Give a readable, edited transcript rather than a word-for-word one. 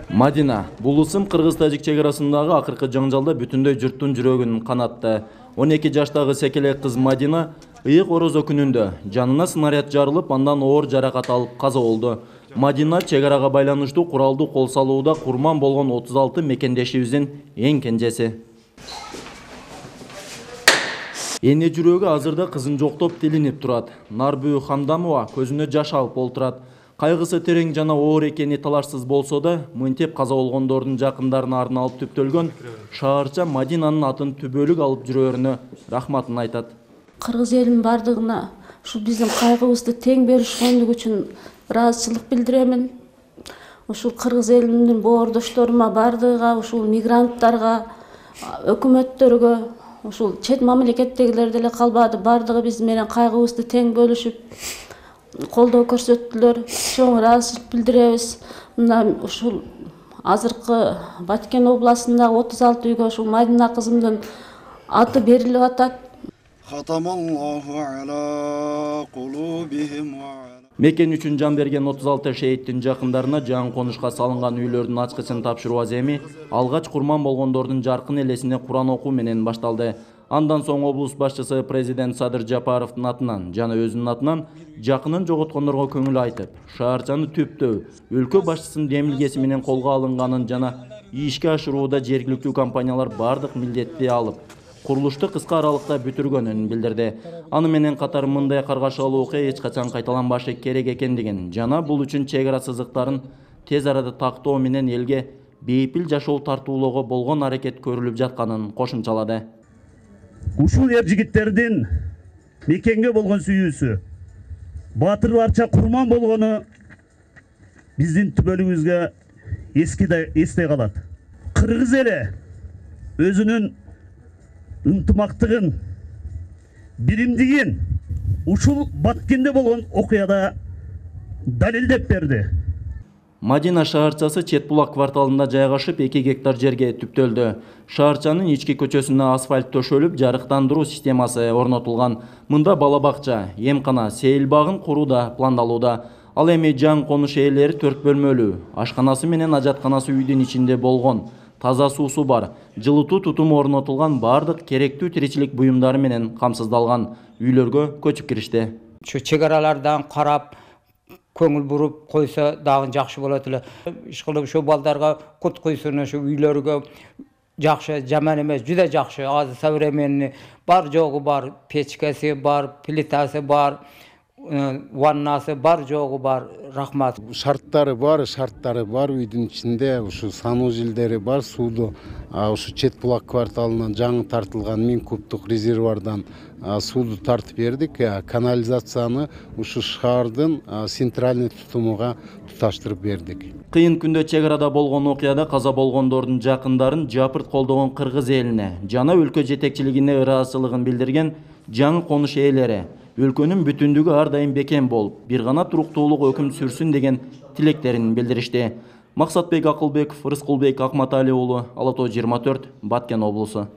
Мадина бул ысым кыргыз-тажик чек арасындагы акыркы жаңжалда бүтүндөй журттун жүрөгүн канатты. 12 жаштагы секелек кыз Мадина ыйык орозо күнүндө жанына снаряд жарылып, андан оор жаракат алып каза болду. Мадина чек арага байланыштуу куралдуу кол салууда курман болгон 36 мекендешибиздин эң кенжеси. Эне жүрөгү азырда кызын жоктоп тилинип турат. Нарбүү Хамдамова көзүнө жаш алып олтурат. Кайгысы терең жана оор экени талашсыз болсо да, мынтип каза болгондордун жакындарына арналып түптөлгөн шаарча Мадинанын атын түбөлүк алып жүрөрүнө рахматын айтат. Кыргыз элинин бардыгына ушул биздин кайгыбызды тең бөлүшкөндүгү үчүн ыраазычылык билдиремин. Ушул кыргыз элинин боордошторума бардыгыга, ушул мигранттарга, өкмөттөргө, ушул чет мамлекеттегилер деле калбады, бардыгы биз менен кайгыбызды тең бөлүшүп колдоо көрсөттүлөр. Чоң ыраазычылык билдиребиз. Мына ушул азыркы Баткен областындагы 36 үйгө ушул Мадина кызымдын аты берилип атат. Мекен үчүн жан берген 36 шейиттин жакындарына жаңы конушка салынган үйлөрдүн ачкычын тапшыруу аземи алгач курман болгондордун жаркын элесине Куран окуу менен башталды. Андан соң облус башчысы президент Садыр Жапаровдун атынан жана өзүнүн атынан жакынын жоготкондорго көңүл айтып, шаарчаны түптөө, өлкө башчысынын демилгеси менен колго алынганын жана ишке ашырууда жергиликтүү компаниялар бардык милдетти алып, курулушту кыска аралыкта бүтүргөнүн билдирди. Аны менен катар мындай каргашалуу окуя эч качан кайталанбашы керек экендигин жана бул үчүн чек ара сызыктарын тез арада тактоо менен элге бейпил жашоо тартуулоого болгон аракет көрүлүп жатканын кошумчалады. Ушул ер жигиттердин мекенге болгон сүйүүсү, баатырларча курман болгону биздин түбөлүгүбүзгө эсте калат. Кыргыз эли өзүнүн ынтымактыгын, биримдигин ушул Баткенде болгон окуяда далилдеп берди. Мадина шаарчасы Четбулак кварталында жайгашып 2 гектар жерге түптөлдү. Шаарчанын ички көчөсүнө асфальт төшөлүп, жарыктандыруу системасы орнотулган. Мында бала бакча, эмкана, сейил багын куруу да пландалууда. Ал эми жаңы конуш ээлери 4 бөлмөлүү, ашканасы менен ажатканасы үйдүн ичинде болгон. Таза суусу бар, жылытуу тутуму орнотулган, бардык керектүү тиричилик буюмдары менен камсыздалган. Үйлөргө көчүп киришти. Şu чек аралардан карап, көңүл буруп койсо дагы жакшы болот эле. Ишкылып şu балдарга кут куйсун, şu үйлөргө жакшы, жаман эмес, жүдө жакшы, азыр современный, бар жогу бар, печкеси бар, плитасы бар, ваннасы бар, жогу бар. Рахмат. Шарттары бар үйдүн ичинде, ушу санузелдери бар, сууду ушу Четбулак кварталынан жаңы тартылган 1000 кубтук резервуардан сууду тартып бердик. Канализацияны ушу шаардын центральный тутумуга туташтырып бердик. Кыйын күндө чек арада болгон окуяда каза болгондордун жакындарын жапырт колдогон кыргыз элине жана өлкө жетекчилигине ыраазычылыгын билдирген жаңы конуш ээлери өлкөнүн бүтүндүгү ар дайым бекем болуп, бир гана туруктуулук өкүм сүрсүн деген тилектерин билдиришти. Максатбек Акылбеков, Рыскулбек Акматали уулу, Ала Тоо 24, Баткен облусу.